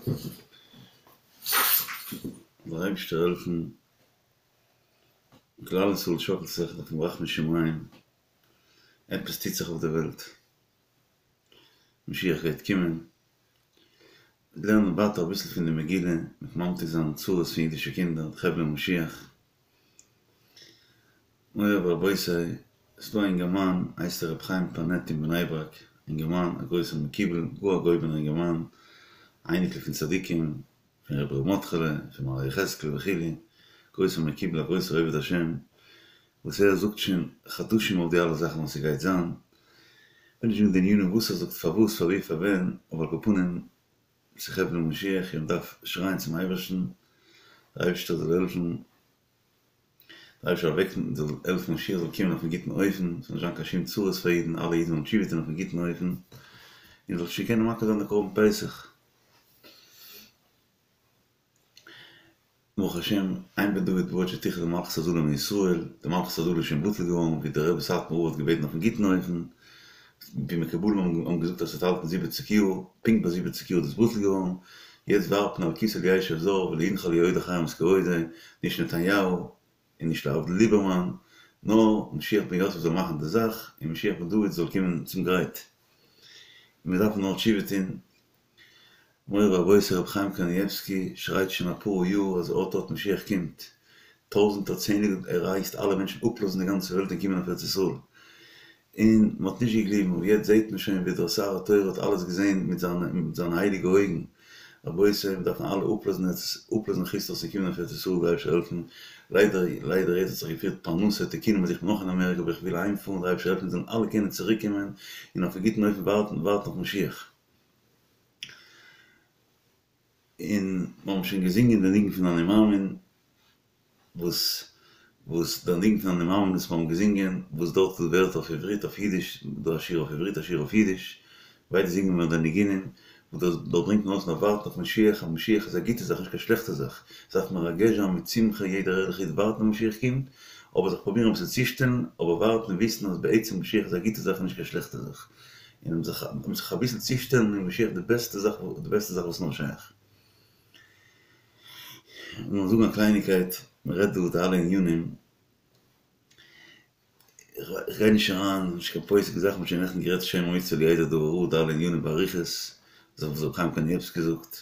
זאל דער אייבערשטער העלפן כלל ישראל שאקלט זיך דארף מען רחמי שמים, עפעס טוט זיך אויף די וועלט, משיח גייט קומען, לערנען ווייטער אביסל פון די מגילה, מיט ממתיק זיין צרות פון אידישע קינדער, חבלי משיח. מורי ורבותי, ס'איז דא א אינגערמאן הייסט ער ר' חיים פאנעט אין בני ברק, אינגערמאן א גרויסער מקובל, גאר א געהויבענער אינגערמאן, א אייניקל פון צדיקים, פון רבי ר' מרדכי'לע, פון מראה יחזקאל וכו', גרויסער מקובל א גרויסער עובד השם, וואס ער זאגט שוין חדשים אויף די אלע זאכן וואס ס'גייט זיין, כ'וויל נישט זאגן די ענינים וואס ער זאגט פארוואס פארווי פארווען, אבער על כל פנים ס'איז חבלי משיח און מ'דארף שרייען צום אייבערשטן, דער אייבערשטער זאל העלפן. דער אייבערשטער זאל וועקן זאל העלפן משיח זאל קומען אויפן גוטן אופן, ס'זאל נישט זיין קיין שום צרות פאר אידן, אלע אידן זאלן תשובה טון אויפן גוטן אופן, און מ'זאל שוין קענען מקריב זיין די קרבן פסח. ברוך השם, אין בן דוד בא עד שתכלה מלכות הזלה מישראל, די מלכות הזלה איז שוין בטל געווארן, ווי דער רבי סאטמאר רב האט געבעטן אויפן גוטן אופן, ווי מקובלים האבן געזאגט אז ס'וועט האלטן זיבעציג יאר, פונקט ביי זיבעציג יאר איז דאס בטל געווארן, יעצט ווארט מען על כסא לישב זר ולא ינחלו עוד אחרי את כבודו, נישט נתניהו און נישט להבדיל ליבערמאן, נאר משיח בן יוסף זאל מאכן די זאך און משיח בן דוד זאל קומען צום גרייט. און מיר דארפן נאר תשובה טון. מורי ורבותי רבי חיים קנייבסקי שרייט שוין אפאר יאר אז אט אט משיח קומט, טויזענטער צענדליגער ער הייסט אלע מענטשן אפלאזן די גאנצע וועלט און קומען אויף ארץ ישראל, און מען האט נישט געגליבן, אבער יעצט זעט מען שוין ווי דער שר התורה האט אלעס געזען מיט זיינע מיט זיינע הייליגע אויגן, רבותי מיר דארפן אלע אפלאזן ארץ אפלאזן חוץ לארץ און קומען אויף ארץ ישראל דער אייבערשטער העלפן, ליידער ליידער יעצט האט זיך געפירט פרנסה תיקונים אז איך בין נאך אין אמעריקא אבער איך וויל אהיים פארן דער אייבערשטער העלפן מיר זאלן אלע קענען צוריק קומען און אויפן גוטן אופן ווארטן ווארטן אויף משיח. און מיר האבן שוין געזינגען די ניגון פון אני מאמין. וואס וואס דער ניגון פון אני מאמין וואס מיר האבן געזינגען, וואס דארט איז ווערטער אויף עברית אויף אידיש, דא א שיר אויף עברית א שיר אויף אידיש, ביידע זינגען מיר די ניגונים, וואס דאס דארט ברענגט מען אויס מ'דארף ווארטן אויף משיח, אז משיח איז א גוטע זאך נישט קיין שלעכטע זאך, עס דארף מרגש זיין מיט שמחה יעדער ערליכע איד ווארטן אז משיח קומט, אבער זיך פרובירן אביסל צושטעלן, אבער ווארטן און וויסן אז בעצם משיח איז א גוטע זאך און נישט קיין שלעכטע זאך, און זיך זיך אביסל צושטעלן איז משיח די בעסטע זאך די בעסטע זאך וואס נאר שייך. לאמיר זאגן א קלייניקייט, מען רעדט דא די אלע ענינים, איך גיי נישט אריין, נישט קיין פוסק זאכן, מ'האט שוין נעכטן גערעדט שומר מצוה לא ידע דבר רע, די אלע ענינים באריכות, אזוי ווי ר' חיים קנייבסקי זאגט,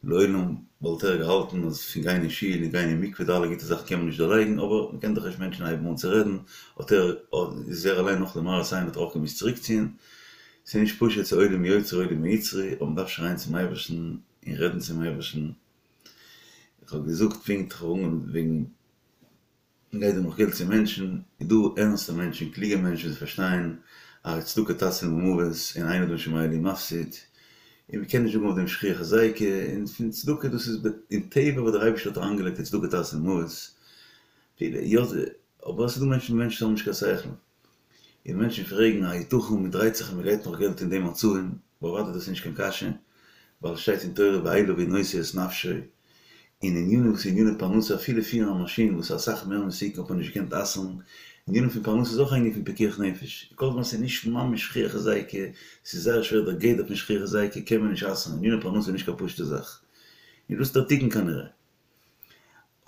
לעולם וואלט ער געהאלטן אז פון גיין אין שול און גיין אין מקווה די אלע גוטע זאכן קען מען נישט דערלייגן, אבער מען קען דאך נישט מענטשן הייבן אן צו רעדן, האט ער, איז ער אליין נאך די מראית עין האט ער אויך געמוזט צוריקציען, ס'איז נישט פשוט צו עולם יוצר עולם יצרו, אבער מ'דארף שרייען צום אייבערשטן, און רעדן צום אייבערשטן, איך האב געזאגט פונקט איך האב אנגעהויבן וועגן מ'גייט דא נאך געלט צו מענטשן, איז דא ערנסטע מענטשן קלוגע מענטשן וואס פארשטייען אז צדקה תציל ממוות און אין אדם שומע לי מפסיד, און מ'קען נישט זאגן אויף דעם שכיח היזיקא, און פון צדקה דאס איז אין טבע וואס דער אייבערשטער האט אריינגעלייגט אז צדקה תציל ממוות, אבער עס איז דא מענטשן מענטשן האבן נישט קיין שכל. און מענטשן פרעגן היתכן מען דרייט זיך און מען גייט נאך געלט אין די מצבים, אוודאי דאס איז נישט קיין קשיא, ווייל עס שטייט אין תורה ואליו הוא נושא את נפשו, און ענינים וואס איז עניני פרנסה אפילו פירן א מאשין וואס איז אסאך מער מסוכן האט מען נישט געקענט אסר'ן, ענינים פון פרנסה איז אויך א ענין פון פיקוח נפש, כל זמן ס'איז נישט ממש שכיח היזיקא, ס'איז זייער שווער דער גדר פון שכיח היזיקא קען מען נישט אסר'ן, עניני פרנסה איז נישט קיין פשוט'ע זאך, און דאס איז דער תיקון כנראה.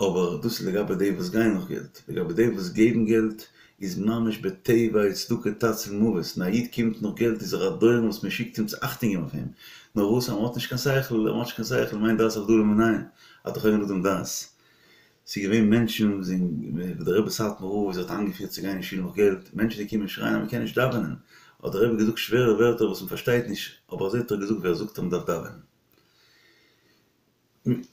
אבער דאס איז לגבי די וואס גייען נאך געלט, לגבי די וואס געבן געלט איז ממש בטבע צדקה תציל ממוות, און א איד קומט נאך געלט איז ער א דורן וואס מען שיקט אים צו אכטונג געבן אויף אים, נאר וואס אז מען האט נישט קיין שכל, אז מען האט נישט קיין שכל מה דעת הבדלה מנין, אתה חונן לאדם דעת. ס'איז געווען מענטשן וואס זענען, וואס דער רבי סאטמאר רב האט איינגעפירט צו גיין אין שול נאך געלט, מענטשן זענען געקומען שרייען אז מען קען נישט דאווענען, האט דער רבי געזאגט שווערע ווערטער וואס מען פארשטייט נישט, אבער אזוי האט ער געזאגט ווער זאגט אז מען דארף דאווענען.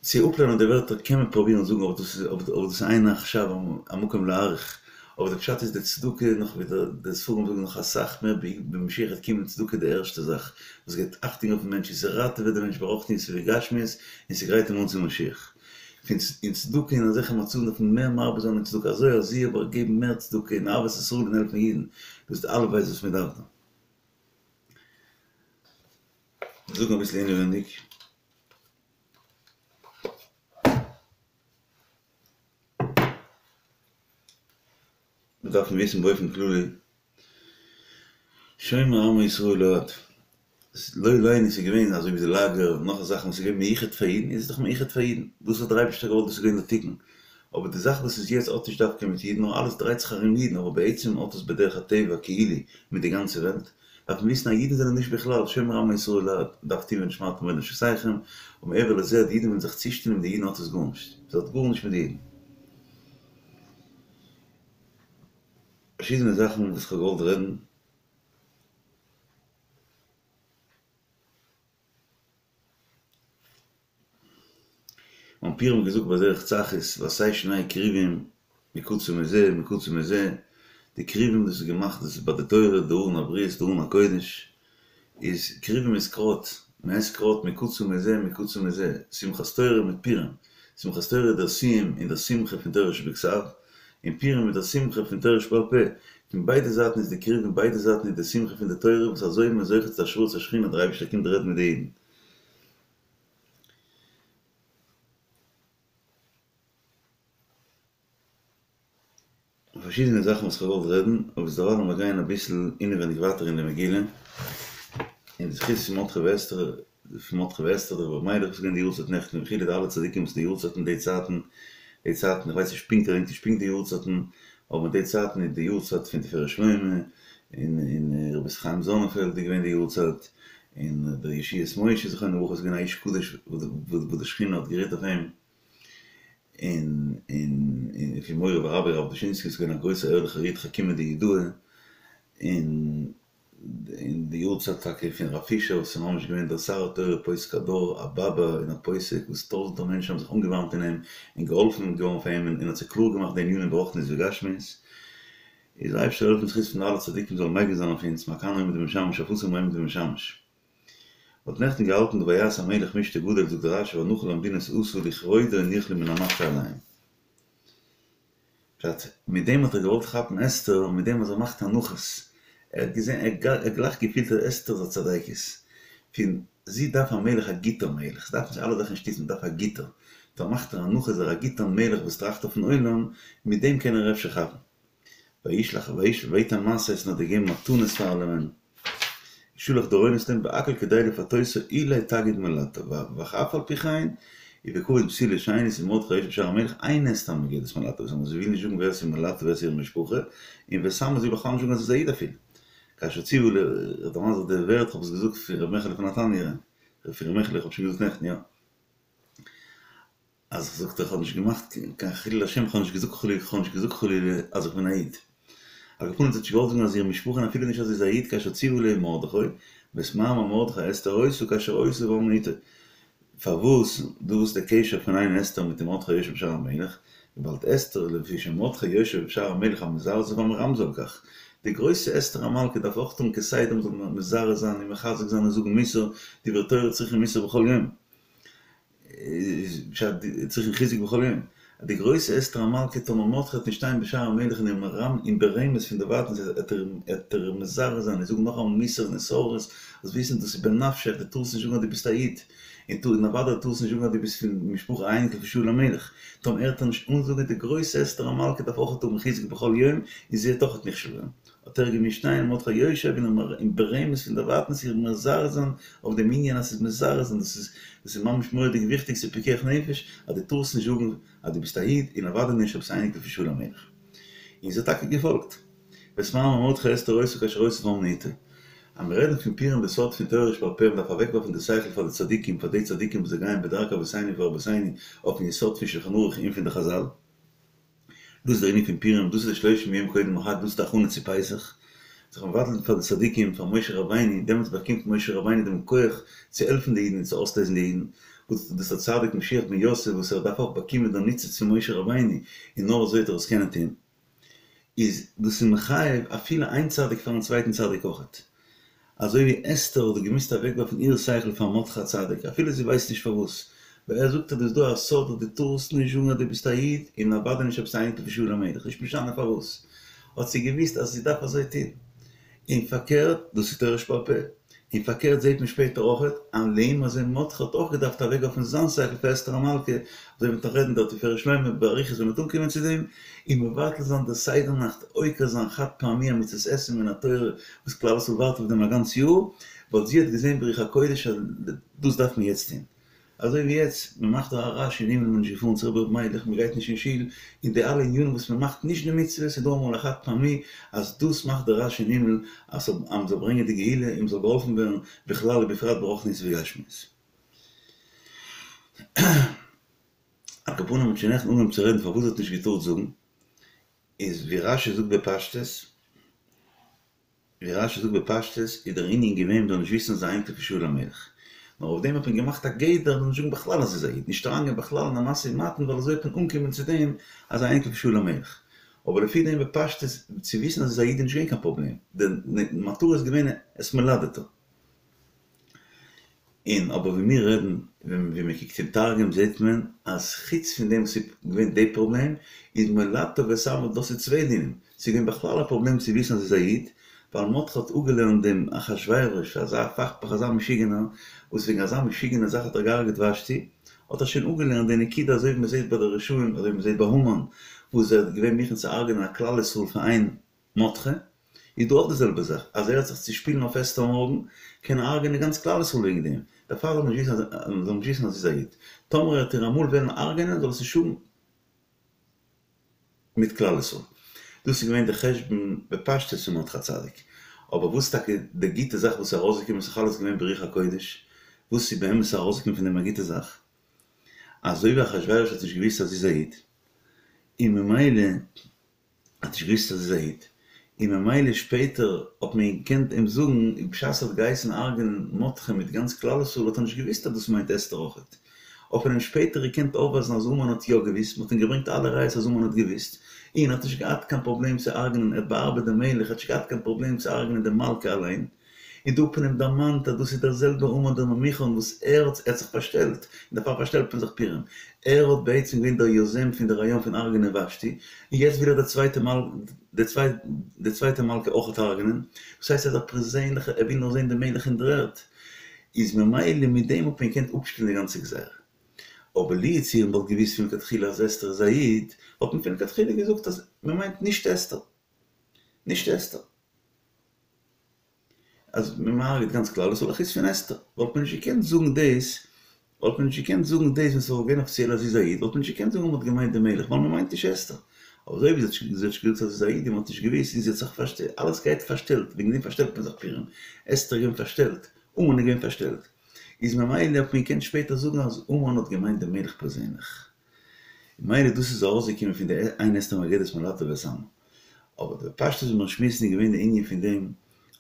צו אפלערנען די ווערטער קען מען פרובירן זאגן אבער דאס איז אבער דאס איז אין עכשיו המקום להאריך, אבער די פשט איז די צדקה נאך ווי די ספרים זאגן נאך אסאך מער ווען משיח וועט קומען צדקה די ערשטע זאך וואס געבט אכטונג אויפן מענטש און ס'ראטעוועט די מענטש ברוחניות ובגשמיות און ס'גרייט אים אן צו משיח. פון און צדקה אין אזעלכע מצבים דארף מען מער מרבה זיין אין צדקה אזוי אזוי אבער געבן מער צדקה און אהבת ישראל און העלפן אידן דאס איז די אלף בית וואס מען דארף דא. זאגן אביסל אינעווענדיג. מיר דארפן וויסן באופן כללי, שומר עמו ישראל לעד. לא עלינו ס'איז געווען אזוי ווי די לאגער נאך זאכן וואס איז געווען מיוחד פאר אידן איז עס דאך מיוחד פאר אידן, דאס האט דער אייבערשטער געוואלט דאס איז געווען דער תיקון, אבער די זאך וואס איז יעצט האט נישט דווקא מיט אידן נאר אלעס דרייט זיך ארום אידן אבער בעצם האט עס בדרך הטבע כאילו מיט די גאנצע וועלט, דארף מען וויסן אז אידן זענען נישט בכלל שומר עמו ישראל לעד, דארף טון ונשמרתם מאד לנפשותיכם, ומעבר לזה אז די אידן ווילן זיך צושטעלן מיט די אידן האט עס גארנישט, עס האט גארנישט מיט די אידן. פארשידענע זאכן וואס כ'האב געוואלט רעדן. ביים פורים געזאגט בדרך צחות ועשה שני כרובים מקצה מזה ומקצה מזה, די כרובים דאס איז געמאכט דאס איז ביי די תורה די ארון הברית די ארון הקודש איז כרובים איז קראט, מען עסט קראט מקצה מזה ומקצה מזה, שמחת תורה מיט פורים, שמחת תורה איז דער סיום און דער שמחה פון תורה שבכתב, און פורים איז דער שמחה פון תורה שבעל פה, פון ביידע זייטן איז די כרובים ביידע זייטן איז די שמחה פון די תורה וואס אזוי איז מען זוכה צו השראת השכינה דער אייבערשטער קומט רעדן מיט די אידן. פארשידענע זאכן וואס כ'האב געוואלט רעדן, אבער ביזדערווייל לאמיר גיין אביסל אינעווייניג ווייטער אין די מגילה, אין די זכות פון מרדכי ואסתר, פון מרדכי ואסתר דער רבי ר' מיילעך וואס איז געווען די יארצייט נעכטן וכו' די אלע צדיקים וואס די יארצייטן די צייטן, די צייטן, איך ווייס נישט פונקט, איך געדענק נישט פונקט די יארצייטן, אבער אין די צייטן איז די יארצייט פון תפארת שלמה, און און רבי יוסף חיים זאנענפעלד איז געווען די יארצייט, און דער ישועות משה זכרונו לברכה איז געווען א איש קדוש וואס די שכינה האט גערוהט אויף אים. און און און פון מורי ורבי הרב דושינסקי איז געווען א גרויסער ערליכער איד חכימא דיהודאי, און און די יארצייט טאקע פון רב פישער וואס איז ממש געווען דער שר התורה פוסק הדור א באבע און א פוסק וואס טויזענטער מענטשן האבן זיך אנגעווארעמט אין אים און געהאלפן געווארן פון אים און האט זיי קלאר געמאכט די ענינים ברוחניות וגשמיות, איז דער אייבערשטער זאל העלפן זכות פון אלע צדיקים זאלן מגין זיין אויף אונז מה כאן עומד ומשמש אויף וואס איז מען עומד ומשמש. מ'האט נעכטן געהאלטן די ויעש המלך משתה גדול זאגט רש"י והנחה למדינות עשה לכבודו הניח לו מן המקשה עליהם. פשט, מיט דעם האט ער געוואלט כאפן אסתר, מיט דעם אז ער מאכט הנחות. ער האט געזען, ער האט גלייך געפילט אז אסתר איז א צדיקת. פון זי דארף א מלך א גוטער מלך, זי דארף נישט אלע זאכן שטיצן, זי דארף א גוטער. טא מאכט ער הנחות איז ער א גוטער מלך וואס טראכט אויפן עולם, מיט דעם קען ער אפשר כאפן. וישלח וישלח ויתן משאות און האט געגעבן מתנות פאר אלעמען, שלח דורונות להם והכל כדי לפתותה אולי תגיד מולדתה ואף על פי כן ובכבוד בתולה שנית ומרדכי היושב בשער המלך אין אסתר מגדת מולדתה ואת עמה זי וויל נישט זאגן ווער ס'איז מולדתה ווער ס'איז איר משפחה און ואת עמה זי וויל בכלל נישט זאגן אז זי איז א איד אפילו כאשר ציוה ל דערמאן זיך די ווערטער כ'האב עס געזאגט פון ר' מעכעלע פון נתניה פון ר' מעכעלע איך האב שוין געזאגט נעכטן יא. אז איך זאגט איך האב נישט געמאכט קיין חילול השם, איך האב נישט געזאגט חלילה, איך האב נישט געזאגט חלילה אז איך בין א איד. על כל פנים זי האט נישט געוואלט זאגן אז איר משפחה און אפילו נישט אז זי איז א איד כאשר ציוה עליה מרדכי, ואת מאמר מרדכי אסתר עושה כאשר עושה ואמנו אתו. פארוואס דא וואס איז די קשר פון איין אסתר מיט דעם מרדכי היושב בשער המלך? וויבאלד אסתר לפי שמרדכי יושב בשער המלך המזרז והמרמז על כך. די גרויסע אסתר המלכה דארף אויך טון כסדר מ'זאל מזרז זיין און מחזק זיין און זאגן מוסר, דברי תורה צריכים מוסר בכל יום. איז פשט צריכים חיזוק בכל יום. אז די גרויסע אסתר המלכה טאמער מרדכי וועט נישט שטיין בשער המלך און איר מרמ און ברמז פון דערווייטענס וועט ער וועט ער מזרז זיין און זאגן נאכאמאל מוסר און התעוררות זאלסט וויסן דאס איז בנפשך דו טארסט נישט זאגן אז דו ביסט א איד און טאר און אוודאי טארסט נישט זאגן אז דו ביסט פון משפחה א אייניקל פון שאול המלך טאמער ער וועט איר נישט אנזאגן די גרויסע אסתר המלכה דארף אויכעט האבן חיזוק בכל יום און זי וועט אויכעט נכשל ווערן. האט ער געמוזט שטיין מרדכי יושב און און ברמז פון דערווייטענס איר מזרז זיין אויף דעם ענין אז ס'איז מזרז און דאס איז דאס איז ממש מורא'דיג וויכטיג ס'איז פיקוח נפש אז דו טארסט נישט זאגן אז דו ביסט א איד און אוודאי נישט אז ביסט א אייניקל פון שאול המלך. און זי האט טאקע געפאלגט. ואת מאמר מרדכי אסתר עושה כאשר עושה ואמנו אתו. אז מיר רעדן פון פורים די סוד פון תורה שבעל פה מ'דארף אוועקווארפן די שכל פאר די צדיקים פאר די צדיקים וואס זיי גייען בדרכי אבותינו ורבותינו אויפן יסוד פון שולחן ערוך און פון די חזל. דאס איז דער ענין פון פורים, דאס איז די שלושים יום קודם החג, דאס איז די הכנה צו פסח, זיך מבטל'ן פאר די צדיקים, פאר משה רבינו, דעמאלטס באקומט משה רבינו דעם כח צו העלפן די אידן און צו אויסלייזן די אידן, וואס דאס איז א צדיק משיח בן יוסף וואס ער דארף אויך באקומען דער ניצוץ פון משה רבינו, און נאר אזוי וועט ער עס קענען טון. איז דאס איז מחייב אפילו איין צדיק פארן צווייטן צדיק אויכעט. אזוי ווי אסתר האט געמוזט אוועקווארפן איר שכל פאר מרדכי הצדיק, אפילו זי ווייסט נישט פארוואס, ווייל ער זאגט אז דא איז דא א סוד אז דו טארסט נישט זאגן אז דו ביסט א איד, און אוודאי נישט אז ביסט א אייניקל פון שאול המלך, נישט משנה פארוואס, האט זי געוואוסט אז זי דארף אזוי טון. און פארקערט, דאס איז תורה שבעל פה. און פארקערט זעט מען שפעטער אויכעט, אז לעומת זה מרדכי האט אויך געדארפט אוועקווארפן זיין שכל פאר אסתר המלכה, אזוי ווי מ'וועט נאך רעדן דער תפארת שלמה באריכות ווען מ'וועט אנקומען צו דעם, און מבטל זיין די סדר נאכט, עוקר זיין חד פעמי א מצות עשה מן התורה וואס כלל ישראל ווארט אויף דעם א גאנץ יאר, ווייל זי האט געזען ברוח הקודש אז דאס דארף מען יעצט טון. אזוי ווי יעצט, מען מאכט דא א רעש אין הימל, מען איז נישט געפארן צו רבי ר' מיילעך, מען גייט נישט אין שול, און די אלע ענינים וואס מען מאכט נישט די מצוות, איז דא אמאל א חד פעמי אז דאס מאכט די רעש אין הימל אז מען זאל ברענגען די גאולה און מען זאל געהאלפן ווערן בכלל ובפרט ברוחניות ובגשמיות. על כל פנים מ'האט שוין נעכטן אנגעהויבן צו רעדן פארוואס זי האט נישט געטארט זאגן, איז ווי רש"י זאגט בפשטות, ווי רש"י זאגט בפשטות איז דער ענין געווען מ'זאל נישט וויסן אז זי איז אייניקל פון שאול המלך, נאר אויף דעם האט מען געמאכט א גדר מ'זאל נישט זאגן בכלל אז זי איז א איד, נישט אריינגיין בכלל אין א משא ומתן ווייל אזוי וועט מען אנקומען צו דעם אז זי איז אייניקל פון שאול המלך. אבער לפי דעם בפשטות צו וויסן אז זי איז א איד איז נישט געווען קיין פראבלעם, די מטרה איז געווען את מולדתה. און אבער ווי מיר רעדן ווען מען קוקט אין תרגום זעט מען אז חוץ פון דעם וואס איז געווען די פראבלעם איז מולדתה ואת עמה דאס איז צוויי דינים, ס'איז געווען בכלל א פראבלעם צו וויסן אז זי איז א איד, ווייל מרדכי האט אפגעלערנט דעם אחשורוש אזא פכפך אזא משוגענער וואס וועגן אזא משוגענע זאך האט ער געהארגעט ושתי, האט ער שוין אפגעלערנט די נקודה אזוי ווי מען זעט ביי די רשעים אזוי ווי מען זעט ביי המן וואס ער איז געווען מוכן צו הרג'נען א כלל ישראל פאר איין מרדכי, איז דא אויך די זעלבע זאך, אז ער וועט זיך צושפילן אויף אסתר מארגן, קען ער הרג'ענען גאנץ כלל ישראל וועגן דעם, דערפאר זאל מען נישט וויסן אז זאל מען נישט וויסן אז זי איז א איד, טאמער ער וועט איר אמאל וועלן הרג'ענען זאל עס נישט האבן מיט כלל ישראל. דאס איז געווען די חשבון בפשטות פון מרדכי הצדיק. אבער וואס טאקע די גוטע זאך וואס איז ארויסגעקומען איז דאך אלעס געווען ברוח הקודש, וואס איז באמת ארויסגעקומען פון דעם א גוטע זאך? אזוי ווי אחשורוש האט נישט געוואוסט אז זי איז א איד, און ממילא האט נישט געוואוסט אז זי איז א איד, און ממילא שפעטער האט מען געקענט אים זאגן, בשעת ער האט געהייסן הרג'נען מרדכי מיט גאנץ כלל ישראל האט ער נישט געוואוסט אז דאס מיינט אסתר אויכעט, האט מען אים שפעטער געקענט אויפווייזן אז המן האט יא געוואוסט, מען האט אים געברענגט אלע ראיות אז המן האט געוואוסט, און האט נישט געהאט קיין פראבלעם צו הרג'נען, ער האט באארבעט דעם מלך, ער האט נישט געהאט קיין פראבלעם צו הרג'נען די מלכה אליין. און דא האט מען אים דערמאנט אז דאס איז דער זעלבער המן דער ממוכן וואס ער האט ער האט זיך פארשטעלט, און דערפאר פארשטעלט מען זיך פורים, ער האט בעצם געווען דער יוזם פון די רעיון פון הרג'נען ושתי, און יעצט וויל ער די צווייטע מל די צוויי די צווייטע מלכה אויכעט הרג'נען, דאס הייסט ער איז א פערזענליכע ער וויל נאר זען דעם מלך אין דר'ערד, איז ממילא מיט דעם האט מען געקענט אפשטעלן די גאנצע גזירה. אבער לו יצויר מ'וואלט געוואוסט פון לכתחילה אז אסתר איז א איד, וואלט מען פון לכתחילה געזאגט אז מ'מיינט נישט אסתר. נישט אסתר. אז מען הרג'ט גאנץ כלל ישראל חוץ פון אסתר, וואלט מען נישט געקענט זאגן דאס, וואלט מען נישט געקענט זאגן דאס ווען ס'וואלט געווען אפיציעל אז זי איז א איד, וואלט מען נישט געקענט זאגן אז מ'האט געמיינט די מלך, ווייל מ'מיינט נישט אסתר. אבער אזוי ווי זי האט נישט געזאגט אז זי איז א איד און מ'האט נישט געוואוסט און זי האט זיך פארשטעלט, אלעס גייט פארשטעלט, וועגן דעם פארשטעלט מען זיך פורים, אסתר איז געווען פארשטעלט, המן איז געווען פארשטעלט, איז ממילא האט מען געקענט שפעטער זאגן אז המן האט געמיינט די מלך פערזענליך. ממילא דאס איז ארויסגעקומען פון די אין אסתר מגידת מולדתה ואת עמה. אבער די פשטות ווי מיר שמועסן איז געווען די ענין פון דעם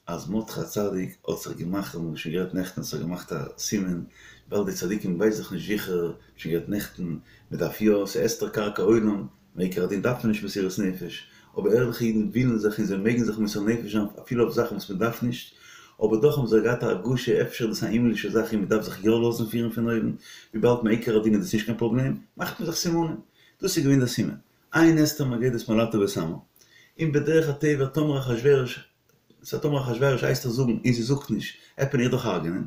אז מרדכי הצדיק האט זיך געמאכט, האבן מיר שוין גערעדט נעכטן, האט זיך געמאכט א סימן, ווייל די צדיקים ווייסן זיך נישט זיכער, שוין גערעדט נעכטן, מען דארף יא, ס'איז אסתר קרקע עולם, מעיקר הדין דארף מען נישט מסירות נפש, אבער ערליכע אידן ווילן זיך און זיי מעגן זיך מוסר נפש זיין אפילו אויף זאכן וואס מען דארף נישט, אבער דאך האבן זיי געהאט א הרגשה אפשר איז דאס א הימלישע זאך און מען דארף זיך יא לאזן פירן פון אויבן, וויבאלד מעיקר הדין איז דאס נישט קיין פראבלעם, מאכט מען זיך סימנים. דאס איז געווען דער סימן. אין אסתר מגידת מולדתה ואת עמה, און בדרך הטבע טאמער אחשורוש, סא טאמער אחשורוש הייסט איר זאגן און זי זאגט נישט, עט מען איר דאך הרג'נען,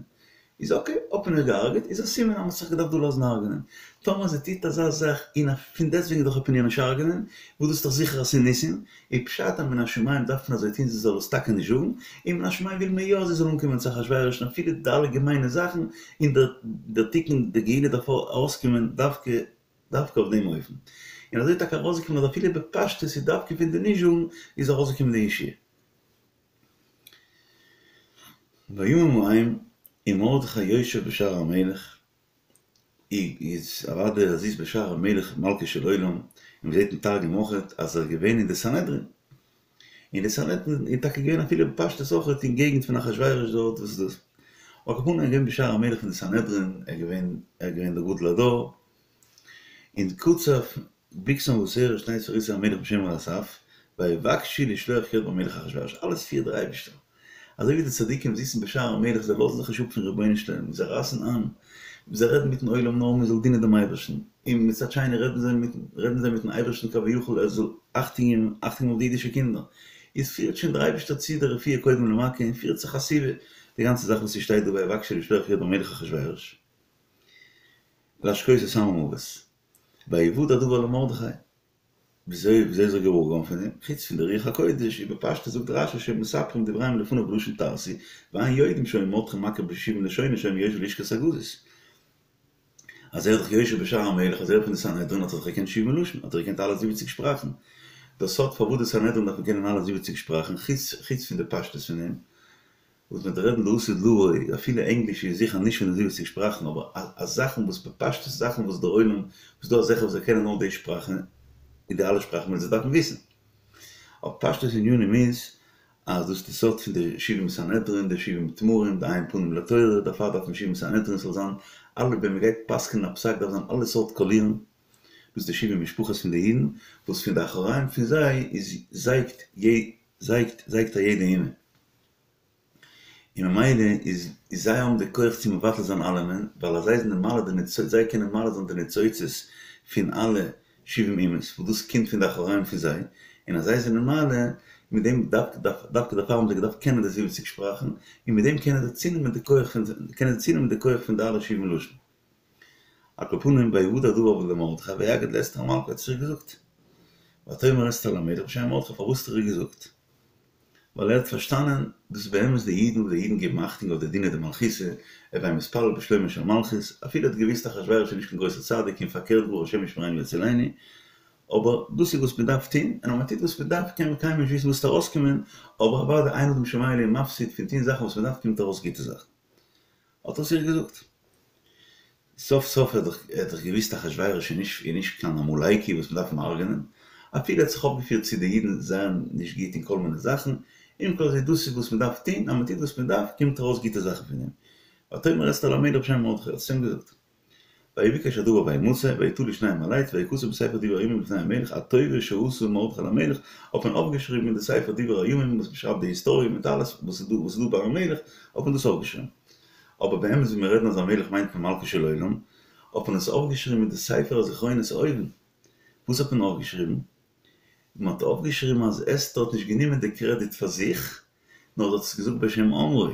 איז אקעי, האט מען איר געהארגעט, איז א סימן אז מען האט זיך געדארפט דא לאזן הרג'נען. טאמער זי טוט אזא זאך און פון דעסטוועגן דאך עט מען איר נישט הרג'נען, וואס דאס איז דאך זיכער אז ס'איז ניסים, איז פשט אז מן השמים דארף מען אזוי טון זי זאל עס טאקע נישט זאגן, און מן השמים וויל מען יא אז זי זאל אנקומען צו אחשורוש און אפילו די אלע געמיינע זאכן, און דער תיקון די גאולה דארף ארויסקומען דווקא דווקא אויף דעם אופן. און אזוי איז טאקע ארויסגעקומען אז אפילו בפשטות איז דווקא פון די נישט זאגן איז ארויסגעקומען די ישועה. בימים ההם ומרדכי יושב בשער המלך, איז אוודאי אז ס'איז בשער המלך מלכו של עולם, און מ'זעט אין תרגום אויכעט אז ער איז געווען אין די סנהדרין. אין די סנהדרין איז טאקע געווען אפילו בפשטות אויכעט אין געגנט פון אחשורוש דארט וואס איז דאס. על כל פנים ער איז געווען בשער המלך פון די סנהדרין, ער איז געווען ער איז געווען דער גדול הדור. און קצף בגתן ותרש שני סריסי המלך משומר הסף, ויבקשו לשלוח יד במלך אחשורוש, אלעס פירט דער אייבערשטער. אזוי ווי די צדיקים זיצן בשער המלך זיי לאזן זיך נישט אפ פון רבונו של עולם, זיי רייסן איין, זיי רעדן מיטן עולם נאר מען זאל דינען דעם אייבערשטן, און מצד שני רעדן זיי מיטן רעדן זיי מיטן אייבערשטן כביכול ער זאל אכטונג געבן אכטונג געבן אויף די אידישע קינדער, איז פירט שוין דער אייבערשטער צו די רפואה קודם למכה און פירט זיך א סיבה, די גאנצע זאך וואס ס'שטייט דא ויבקשו לשלוח יד במלך אחשורוש. להשקות את עם המוות. ויודע הדבר למרדכי. וויאזוי וויאזוי איז ער געוואר געווארן פון דעם? חוץ פון די רוח הקודש, ובפשטות זאגט רש"י שהיו מספרים דבריהם לפניו בלשון תרסי, ואין יודעים שהיה מרדכי מכיר בשבעים לשונות שהיה מיושבי לשכת הגזית. אז ער איז דאך יושב בשער המלך, אז ער איז פון די סנהדרין האט ער דאך געקענט שבעים לשון, האט ער געקענט אלע זיבעציג שפראכן. דער סוד פארוואס די סנהדרין דארפן קענען אלע זיבעציג שפראכן, חוץ חוץ פון די פשטות פון דעם, וואס מ'וועט רעדן לעתיד לבוא, אפילו ענגליש איז זיכער נישט פון די זיבעציג שפראכן, אבער א זאכן וואס בפשטות זאכן וואס דער עולם, וואס דא אזעלכע וואס זיי קענען נאר די שפראכן, און די אלע שפראכן וועלן זיי דארפן וויסן. אבער פשטות ענינים איז, אז דאס איז די סוד פון די שבעים סנהדרין, די שבעים תמרים, די עין פנים לתורה, דערפאר דארף מען שבעים סנהדרין ס'זאל זיין אלע, ווען מ'גייט פסק'נען א פסק דארף זיין אלע סארט קאלירן, דאס די שבעים משפחות פון די אידן, וואס פון די אחוריים פון זיי איז זייגט זייגט זייגט א יעדע אומה. און ממילא איז איז זיי האבן די כח צו מבטל זיין אלעמען, ווייל אז זיי זענען מעלה די ניצוצות, זיי קענען מעלה זיין די ניצוצות פון אלע שבעים אומות, וואס דאס קומט פון די אחוריים פון זיי, און אז זיי זענען מעלה, מיט דעם דווקא דווקא דערפאר האבן זיי געדארפט קענען די זיבעציג שפראכן, און מיט דעם קענען זיי צונעמען די כח פון קענען זיי צונעמען די כח פון די אלע שבעים לשון. על כל פנים ויודע הדבר למרדכי ויגד לאסתר המלכה האט עס איר געזאגט. ותאמר אסתר למלך בשם מרדכי פארוואס האט ער איר געזאגט? ווייל ער האט פארשטאנען דאס באמת די אידן וואס די אידן געבן אכטונג אויף די דינא דמלכותא, הוי מתפלל בשלומה של מלכות, אפילו ער האט געוויסט אחשורוש איז נישט קיין גרויסער צדיק און פארקערט גאר השם ישמרינו ויצילנו, אבער דאס איז וואס מען דארף טון, און אז מען טוט וואס מען דארף קען מען קיינמאל נישט וויסן וואס וועט ארויסקומען, אבער אוודאי אין אדם שומע לי ומפסיד פון טון זאכן וואס מען דארף קומט ארויס גוטע זאכן. האט ער עס איר געזאגט. סוף סוף ער האט דאך געוויסט אחשורוש איז נישט איז נישט קיין עמלקי וואס מ'דארף אים הרג'נען, אפילו ער האט זיך אויפגעפירט צו די אידן זייער נישט גוט און כל מיני זאכן, עם כל זה דאס איז וואס מ'דארף טון, אז מ'טוט וואס מ'דארף קומט ארויס גוטע זאכן פון דעם. ותאמר אסתר למלך בשם מרדכי האט עס אים געזאגט. ויבקש הדבר וימצא, ויתלו שניהם על עץ, ויכתב בספר דברי הימים לפני המלך הטובה שעשה מרדכי למלך, האט מען אויפגעשריבן אין די ספר דברי הימים וואס מ'שרייבט די היסטאריע מיט אלעס וואס איז דא וואס איז דא ביים מלך, האט מען דאס אויפגעשריבן. אבער באמת ווען מיר רעדן אז א מלך מיינט מען מלכו של עולם, האט מען עס אויפגעשריבן אין די ספר הזכרונות אויבן. וואס האט מען אויפגעשריבן? מען האט אויפגעשריבן אז אסתר האט נישט גענומען די קרעדיט פאר זיך, נאר זי האט עס געזאגט בשם אומרו.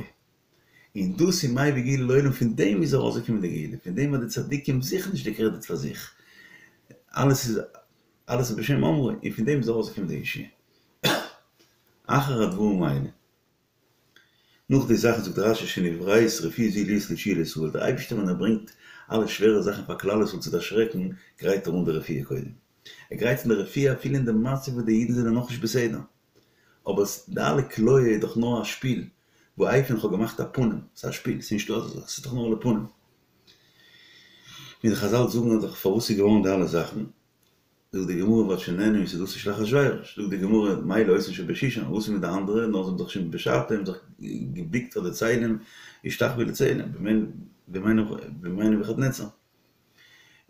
און דאס איז מביא גאולה לעולם, פון דעם איז ארויסגעקומען די גאולה, פון דעם אז די צדיקים זוכן נישט די קרעדיט פאר זיך, אלעס איז אלעס איז בשם אומרו, און פון דעם איז ארויסגעקומען די ישועה. אחר הדברים האלה. נאך די זאכן זאגט רש"י שנבראת רפואה זו להיות לישועה לישראל, דער אייבערשטער ווען ער ברענגט אלע שווערע זאכן פאר כלל ישראל צו דערשרעקן, גרייט ער אן די רפואה קודם. ער גרייט אן די רפואה אפילו אין די מצב וואס די אידן זענען נאכנישט בסדר. אבער די אלע כליה איז דאך נאר א שפיל, ואפן איך האב געמאכט א פנים, ס'איז א שפיל, ס'איז נישטא אזא זאך, ס'איז דאך נאר לפנים. ווי די חז"ל זאגן דאך פארוואס איז געווארן די אלע זאכן, זאגט די גמרא ועד שנהנו מסעודתו של אחשורוש, זאגט די גמרא מילא אותן שבשושן, וואס איז מיט די אנדערע, נאר זיי האבן זיך שוין בשעתו האבן זיך געבוקט פאר די צלם, השתחוו לצלם, בימי נבוכדנצר.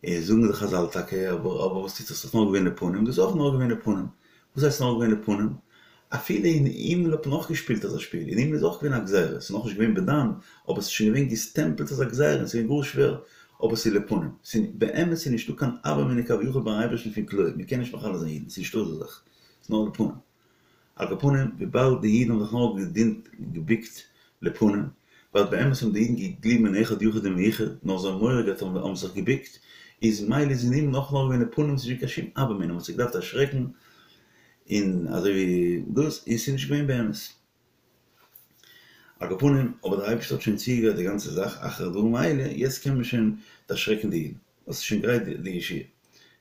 איז זאגן די חז"ל טאקע, אבער אבער וואס טוט זיך ס'איז דאך נאר געווען לפנים, דאס איז אויך נאר געווען לפנים. וואס הייסט נאר געווען לפנים? אפילו אין הימל האט מען אויך געשפילט אזא שפיל, אין הימל איז אויך געווען א גזירה, ס'איז נאכנישט געווען בדם, אבער ס'איז שוין געווען געסטעמפלט אזא גזירה און ס'איז געווען גאר שווער, אבער ס'איז לפנים. ס'איז באמת איז נישטא קיין הוה אמינא כביכול ביים אייבערשטן פון כליה, מ'קען נישט מכלה זיין אידן, ס'איז נישטא אזא זאך, ס'איז נאר לפנים. על כל פנים, וויבאלד די אידן האבן זיך נאר געדינט געבוקט לפנים, ווייל באמת האבן די אידן געגליבן אין אחד יחיד ומיוחד, נאר זיי האבן מורא געהאט און האבן זיך געבוקט, איז מילא איז אין הימל אויך נאר געווען לפנים, ס'איז נישט געווען קיין שום הוה אמינא, מ'האט זיך געדארפט דערשרעקן, און אזוי ווי דאס, און ס'איז נישט געווען באמת. על כל פנים, אבער דער אייבערשטער האט שוין צוגעגרייט די גאנצע זאך אחר הדברים האלה, יעצט קען מען שוין דערשרעקן די אידן, ווייל ס'איז שוין גרייט די ישועה.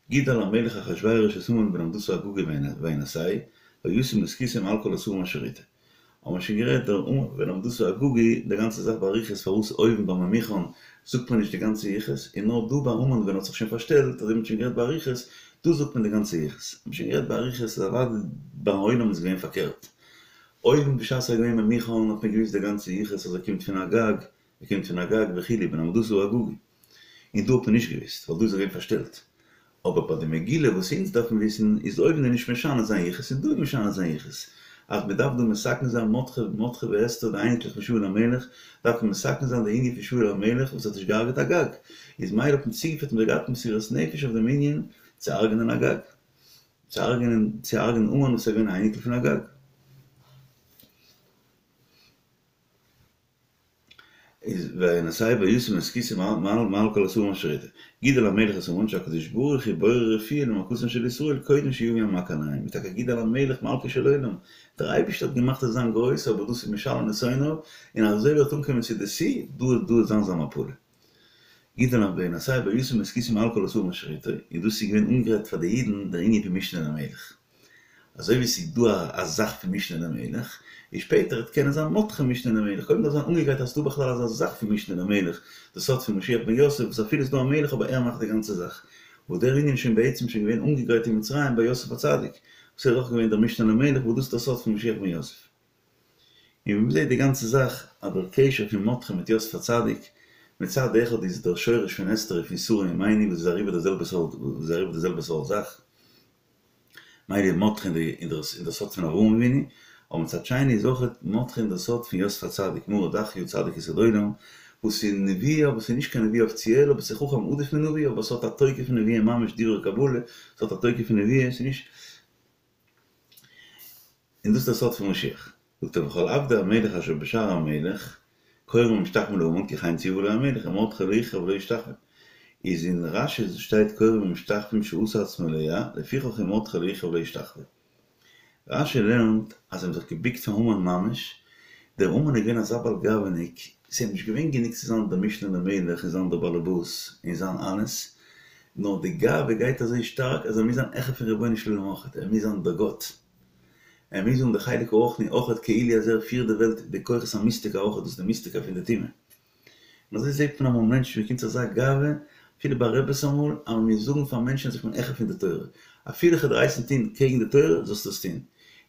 גידל המלך אחשורוש את המן בן המדתא האגגי וינשאהו, וישם את כסאו מעל כל השרים אשר אתו. האבן מיר שוין גערעדט דער המן בן המדתא האגגי, די גאנצע זאך באריכות פארוואס אויבן ביי ממוכן זאגט מען נישט די גאנצע יחוס, און נאר דא ביי המן ווען ער האט זיך שוין פארשטעלט, אזוי האט מען שוין גערעדט באריכות, דא זאגט מען די גאנצע יחוס. האט מען שוין גערעדט באריכות אז אוודאי ביים עולם איז געווען פארקערט. אויבן בשעת ער איז געווען ממוכן האט מען געוויסט די גאנצע יחוס אז ער קומט פון אגג, ער קומט פון אגג וכו' בן המדתא האגגי. און דא האט מען נישט געוויסט ווייל דא איז ער געווען פארשטעלט. אבער ביי די מגילה וואס אונז דארפן וויסן איז אויבן איז נישט משנה זיין יחוס און דא איז משנה זיין יחוס. אז מען דארף דא מתקן זיין מרדכי מרדכי ואסתר די אייניקלעך פון שאול המלך דארף מען מתקן זיין די ענין פון שאול המלך וואס האט נישט געהארגעט אגג. איז מילא האט מען צוגעפירט און געהאט מסירות נפש אויף דעם ענין צו הרג'נען אגג. צו הרג'נען צו הרג'נען המן וואס איז געווען א אייניקל פון אגג. איז וינשאהו וישם את כסאו מעל מעל כל השרים אשר אתו. גידל המלך את המן שהקדוש ברוך הוא בורא רפואה למכתן של ישראל קודם שיבא המכה עליהם. איז טאקע גידל המלך מלכו של עולם. דער אייבערשטער האט געמאכט עס זיין גרויס אבער דאס איז משלם לשונאיו און אזוי וועט אנקומען צו די שיא, דא דא וועט זיין זיין מפלה. גידל המ וינשאהו וישם את כסאו מעל כל השרים אשר אתו, און דאס איז געווען אנגעגרייט פאר די אידן דער ענין פון משנה למלך. אזוי ווי ס'איז דא א זאך פון משנה למלך, און שפעטער וועט קענען זיין מרדכי משנה למלך, קודם דארף זיין אנגעגרייט אז ס'דא בכלל אזא זאך פון משנה למלך, די סוד פון משיח בן יוסף, וואס אפילו ס'איז דא א מלך אבער ער מאכט די גאנצע זאך. וואס דער ענין איז שוין בעצם שוין געווען אנגעגרייט אין מצרים ביי יוסף הצדיק, וואס ער איז אויך געווען דער משנה למלך, וואס דאס איז דער סוד פון משיח בן יוסף. און ווי מ'זעט די גאנצע זאך אז דער קשר פון מרדכי מיט יוסף הצדיק, מצד אחד איז דער שורש פון אסתר איז פון שרה אמנו וואס איז אריבער די זעלבע סארט וואס איז אריבער די זעלבע סארט זאך, מילא איז מרדכי אין דער סוד פון אברהם אבינו, אבער מצד שני איז אויך מרדכי אין דער סוד פון יוסף הצדיק, מרא דאתרא צדיק יסוד עולם, וואס איז נבואה אבער ס'איז נישט קיין נבואה אפיציעל אבער ס'איז חכם עדיף מנביא אבער ס'האט א תוקף פון נבואה ממש דברי קבלה, ס'האט א תוקף פון נבואה, ס'איז נישט. און דאס איז דער סוד פון משיח. זאגט ער וכל עבדי המלך אשר בשער המלך כורעים ומשתחווים להמן כי כן ציוה לו המלך ומרדכי לא יכרע ולא ישתחווה. איז אין רש"י שטייט כורעים ומשתחווים שעשה עצמו אלוה, לפיכך ומרדכי לא יכרע ולא ישתחווה. רש"י לערנט אז זיי האבן זיך געביקט פאר המן ממש, דער המן איז געווען אזא בעל גאווה'ניק, ס'איז אים נישט געווען גענוג צו זיין דער משנה למלך און זיין דער באלעבאס און זיין אלעס, נאר די גאווה גייט אזוי שטארק אז ער מוז זיין העכער פון רבונו של עולם אויכעט, ער מוז זיין דער גאט, ער מוז האבן די חלק הרוחני אויכעט כאילו אז ער פירט די וועלט די כוחות המיסטיקה אויכעט, דאס איז די מיסטיקה פון די טומאה. און אזוי זעט מען אמאל מענטשן ווי קומט צו אזא גאווה, אפילו ביי רעבעס אמאל, אז מען מוז זאגן פאר מענטשן אז איך בין העכער פון די תורה, אפילו איך וועל דיר הייסן טון קעגן די תורה, זאלסטו עס טון.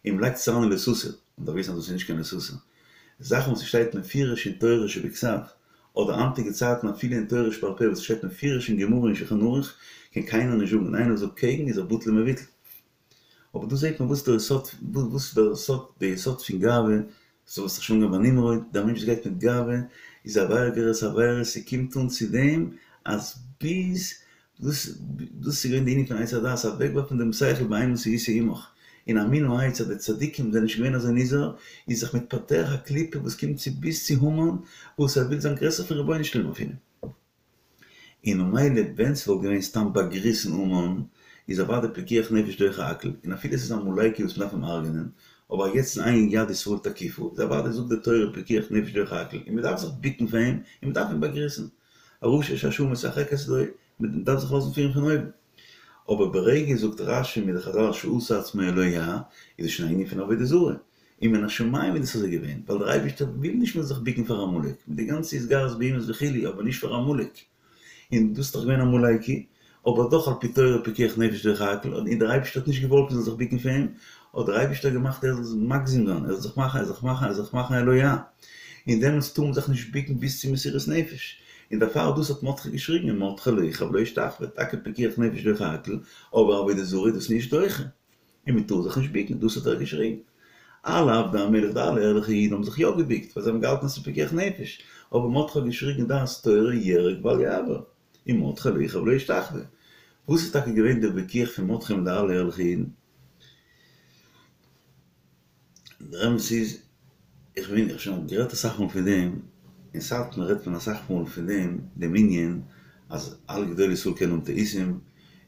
און מען לייגט עס אריין אין לא תסור, מען דארף וויסן אז דאס איז נישט קיין לא תסור. זאכן וואס ס'שטייט מפורש אין תורה שבכתב, אדער היינטיגע צייטן אפילו אין תורה שבעל פה וואס ס'שטייט מפורש אין גמרא און שולחן ערוך, קען קיינער נישט זאגן, און איינער וואס זאגט קעגן איז ער בטל ומבוטל. אבער דא זעט מען וואס דער יסוד, וואס איז דער יסוד, דער יסוד פון גאווה, ס'האט זיך שוין אנגעהויבן ביי נמרוד, דער מענטש וואס גייט מיט גאווה איז עבירה גוררת עבירה, ס'קומט אן צו דעם אז ביז, דאס דאס איז געווען די ענין פון עץ הדעת, אוועקווארפן דעם שכל באימתי ישאו עמך, און א מין העץ אז די צדיקים זענען נישט געווען אזוי נזהר, איז זיך מתפתח א קליפה וואס קומט צו ביז צו המן, וואס ער וויל זיין גרעסער פון רבונו של עולם אפילו. און ממילא ווען ס'וואלט געווען סתם באגריסן המן, איז אוודאי פיקוח נפש דוחה הכל, און אפילו ס'איז עמלקי וואס מ'דארף אים הרג'נען, אבער יעצט איז אין יד ישראל תקיפה, איז אוודאי זאגט די תורה פיקוח נפש דוחה הכל, און מ'דארף זיך ביקן פאר אים, און מ'דארף אים באגריסן. א רשע שהשעה משחקת לו, מ'דארף זיך לאזן פירן פון אויבן. אבער ברגע זאגט רש"י מיט די חז"ל שעשה עצמו אלוה, איז עס שוין א ענין פון עבודה זרה. און מן השמים איז דאס אזוי געווען, ווייל דער אייבערשטער וויל נישט מ'זאל זיך ביקן פאר עמלק, מיט די גאנצע התגרות באומות וכו', אבער נישט פאר עמלק. און דאס איז דאך געווען עמלקי, אבער דאך על פי תורה פיקוח נפש דוחה הכל, און דער אייבערשטער האט נישט געוואלט מ'זאל זיך ביקן פאר אים, האט דער אייבערשטער געמאכט ער זאל מגזים זיין, ער זאל זיך מאכן, ער זאל זיך מאכן, ער זאל זיך מאכן אלוה. און דעמאלטס טאר מען זיך נישט ביקן ביז צו מסירות נפש. און דערפאר דאס האט מרדכי געשריגן, ומרדכי לא יכרע ולא ישתחווה, טאקע פיקוח נפש דוחה הכל, אבער עבודה זרה איז דאס נישט דוחה. און מען טאר זיך נישט ביקן, דאס האט ער געשריגן. אלע עבדי המלך די אלע ערליכע אידן האבן זיך יא געביקט, ווייל זיי האבן געהאלטן אז ס'איז פיקוח נפש, אבער מרדכי האט געשריגן דעת תורה יהרג ואל יעבור, ומרדכי לא יכרע ולא ישתחווה. וואס איז טאקע געווען דער וויכוח פון מרדכי מיט די אלע ערליכע אידן? דער אמת איז, איך בין, איך האב שוין גערעדט אסאך מאל פון דעם, אין סאטמאר רעדט מען אסאך מאל פון דעם, דעם ענין אז אלע גדולי ישראל קענען האבן טעותים,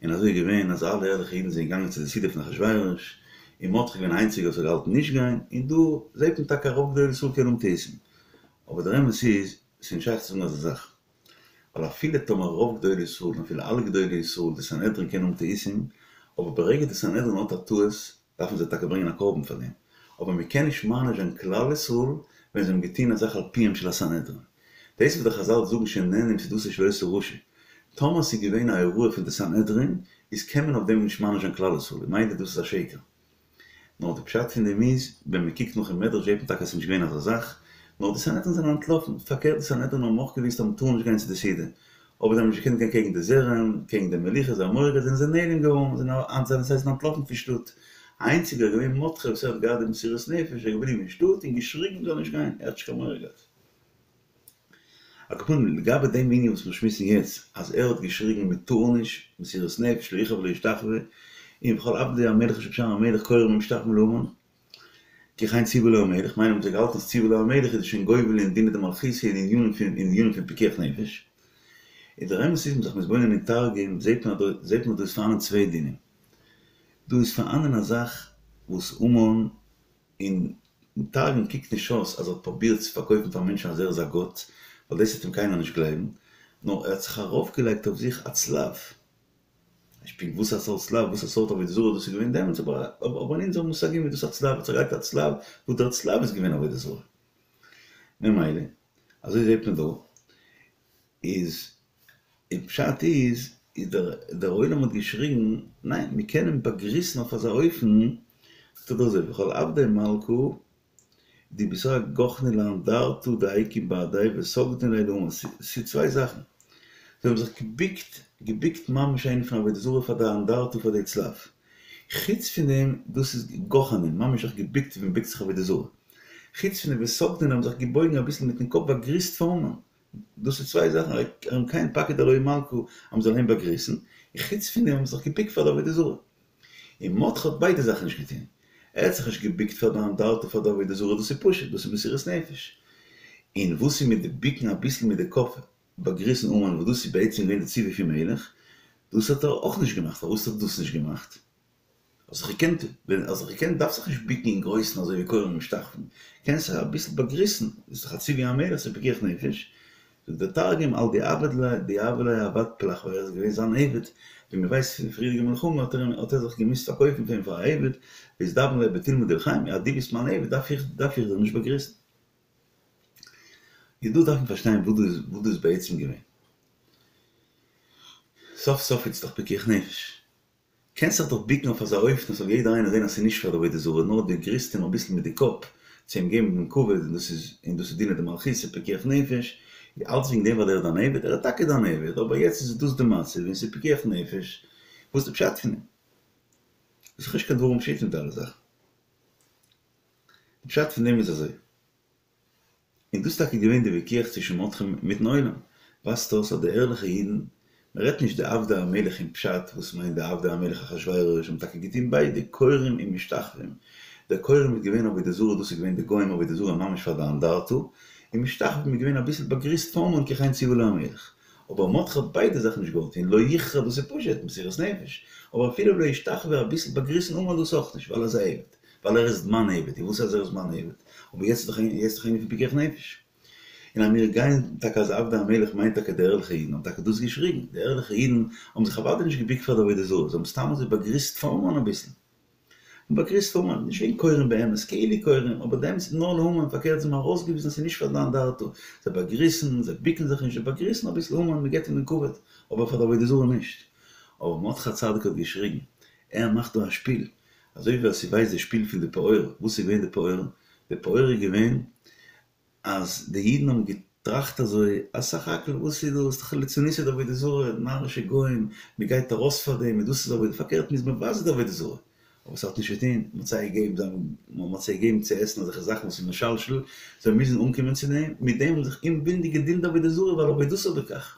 און אזוי איז געווען אז אלע ערליכע אידן זענען געגאנגען צו די סעודה פון אחשורוש, און מרדכי איז געווען איינציגער וואס האט געהאלטן נישט גיין, און דא זעט מען טאקע רוב גדולי ישראל קענען האבן טעותים. אבער דער אמת איז, ס'איז נישט שייך צו זאגן אזא זאך. ווייל אפילו טאמער רוב גדולי ישראל און אפילו אלע גדולי ישראל די סנהדרין קענען האבן טעותים, אבער ברגע די סנהדרין האט א טעות דארפן זיי טאקע ברענגען א קרבן פאר דעם, אבער מען קען נישט מעניש זיין כלל ישראל ווען זיי האבן געטוהן א זאך על פיהם של הסנהדרין. דאס וואס די חז"ל זאגן שנהנו מסעודתו של אותו רשע, טאמער ס'איז געווען א הוראה פון די סנהדרין, איז קען מען אויף דעם נישט מעניש זיין כלל ישראל, ממילא דאס איז א שקר. נאר די פשט פון דעם איז, ווען מען קוקט נאך אין מדרש זעט מען טאקע אז ס'איז נישט געווען אזא זאך, נאר די סנהדרין זענען אנטלאפן, פארקערט די סנהדרין האבן אויך געוואוסט אז מען טאר נישט גיין צו די סעודה, אבער זיי האבן נישט געקענט גיין קעגן די זרם, קעגן די מלוכה, זיי האבן מורא געהאט זענען זיי נעלם געווארן, זענען זיי זענען אנטלאפן פון שטאט. איינציגער איז געווען מרדכי וואס ער האט געהאט די מסירות נפש, ער איז געבליבן אין שטאט און געשריגן מען זאל נישט גיין, ער האט נישט קיין מורא געהאט. על כל פנים, לגבי דעם ענין וואס מיר שמועסן יעצט, אז ער האט געשריגן מען טאר נישט, מסירות נפש, לא יכרע ולא ישתחווה, און וכל עבדי המלך אשר בשער המלך כורעים ומשתחווים להמן. כי כן ציוה לו המלך, מילא האבן זיי געהאלטן אז ציוה לו המלך איז שוין גובל אין דינא דמלכותא אין ענינים פון אין ענינים פון פיקוח נפש. און דער אמת איז מ'איז זיך מתבונן אין תרגום זעט מען אז דא זעט מען אז דא איז פארהאנען צוויי דינים. דא איז פארהאנען א זאך וואס המן אין תרגום קוקט נישט אויס אז ער האט פרובירט צו פארקויפן פאר מענטשן אז ער איז א גאט, ווייל דאס וועט אים קיינער נישט גלייבן, נאר ער האט זיך ארויפגעלייגט אויף זיך א צלב. נישט פונקט וואס א סארט צלב, וואס א סארט עבודה זרה דאס איז געווען דעמאלטס, אבער אבער אין אונזערע מושגים איז דאס א צלב, ער האט זיך געלייגט א צלב, וואס דער צלב איז געווען עבודה זרה. ממילא, אזוי זעט מען דא, איז און פשט איז, איז דער דער עולם האט געשריגן, ניין, מיר קענען באגריסן אויף אזא אופן, זאגט ער דא אזוי, וכל עבדי מלכא די בתריה גחנו לאנדרטא דהאי בהדיה וסגדין ליה להמן, ס'איז צוויי זאכן, זיי האבן זיך געביקט, געביקט ממש אן ענין פון עבודה זרה פאר די אנדרטא פאר די צלב, חוץ פון דעם דאס איז גחנין, ממש זיך געביקט ווי מ'ביקט זיך עבודה זרה, חוץ פון דעם וסגדין האבן זיך געבויגן אביסל מיטן קאפ באגריסט פאר המן, דאס איז צוויי זאכן, אם כן פקיד עלוהי מלכא אז מ'זאל אים באגריסן, און חוץ פון דעם האבן זיי זיך געביקט פאר די עבודה זרה. און מרדכי האט ביידע זאכן נישט געטון. ער האט זיך נישט געביקט פאר די אנדרטא פאר די עבודה זרה, דאס איז פשוט, דאס איז מסירות נפש. און וואס איז מיט די ביקן אביסל מיט די קאפ באגריסן המן וואס דאס איז בעצם געווען די ציווי פון מלך, דאס האט ער אויך נישט געמאכט, פארוואס האט ער דאס נישט געמאכט? האסט דאך געקענט, ווען האסט דאך געקענט דארפסט זיך נישט ביקן אין גרויסן אזוי ווי כורעים ומשתחווים, קענסט זיך אביסל באגריסן, איז דאך א ציווי המלך ס'איז פיקוח נפש, זאגט דער תרגום על דעבד ליה דהוה ליה עבד פלך ווייל ער איז געווען זיין עבד, ווי מען ווייסט פון די פריערדיגע מלחמה האט ער אים האט ער זיך געמוזט פארקויפן פאר אים פאר א עבד, ואתדבן ליה בתולמא דאורחיה, אז דו ביסט מיין עבד דארף איך דארף איך דיר נישט באגריסן. איז דא דארף מען פארשטיין וואס דא איז וואס דא איז בעצם געווען. סוף סוף איז דאך פיקוח נפש. קענסט זיך דאך ביקן אויף אזא אופן אז ס'זאל יעדער איינער זען אז ס'איז נישט פאר די עבודה זרה, נאר דו גריסט אים אביסל מיט די קאפ צו אים געבן דעם כבוד, און דאס איז און דאס איז דינא דמלכותא פיקוח נפש, אלץ וועגן דעם ווייל ער איז דיין עבד, ער איז טאקע דיין עבד, אבער יעצט איז דאס די מצב און ס'איז פיקוח נפש, וואס איז די פשט פון דעם? דאס איז נישט קיין דברים פשוטים די אלע זאכן. די פשט פון דעם איז אזוי. און דאס איז טאקע געווען די וויכוח צווישן מרדכי מיטן עולם, ווייזט אויס אז די ערליכע אידן, מען רעדט נישט די עבדי המלך אין פשט וואס מיינט די עבדי המלך אחשורוש האבן טאקע געטון ביידע, כורעים און משתחווים, די כורעים איז געווען עבודה זרה דאס איז געווען די גוים עבודה זרה ממש פאר די אנדרטא, און משתחווים איז געווען אביסל באגריסט פאר המן כי כן ציוה לו המלך, אבער מרדכי האט ביידע זאכן נישט געוואלט טון, לא יכרע דאס איז פשוט, מסירות נפש, אבער אפילו לא ישתחווה אביסל באגריסן המן דאס אויך נישט ווייל ער איז א עבד. ווייל ער איז מיין עבד, און וואס אז ער איז מיין עבד? אבער יעצט איז דאך יעצט איז דאך ענין פון פיקוח נפש. און אז מיר גייען טאקע אז עבדי המלך מיינט טאקע די ערליכע אידן האבן טאקע דאס געשריגן, די ערליכע אידן האבן זיך אוודאי נישט געביקט פאר די עבודה זרה, זיי האבן סתם אזוי באגריסט פאר המן אביסל. באגריסט פאר המן, נישט וועגן כורעים באמת, כאילו כורעים, אבער די אמת איז נאר להמן, פארקערט זיי האבן ארויסגעוויזן אז ס'איז נישט פאר די אנדרטא, זיי באגריסן, זיי ביקן זיך נישט, זיי באגריסן אביסל המן, מ'געבט אים דעם כבוד, אבער פאר די עבודה זרה נישט. אבער מרדכי הצדיק האט געשריגן, ער מאכט דא א שפיל, אזוי ווי אז ס'ווייסט די שפיל פון די פעור, וואס איז געווען די פעור? די פעור איז געווען אז די אידן האבן געטראכט אזוי, אז סך הכל וואס איז דאס, דאך ליצנותא דעבודה זרה, נארישע גוים, מ'גייט ארויס פאר דעם און דאס איז עבודה, פארקערט מ'איז מבזה די עבודה זרה. אבער ס'האט נישט געטון, מ'האט זיי געגעבן, מ'האט זיי געגעבן צו עסן אזעלכע זאכן וואס איז משלשל, זיי מוזן אנקומען צו דעם, מיט דעם האבן זיך אומווילנדיג געדינט די עבודה זרה ווייל עבודתו בכך.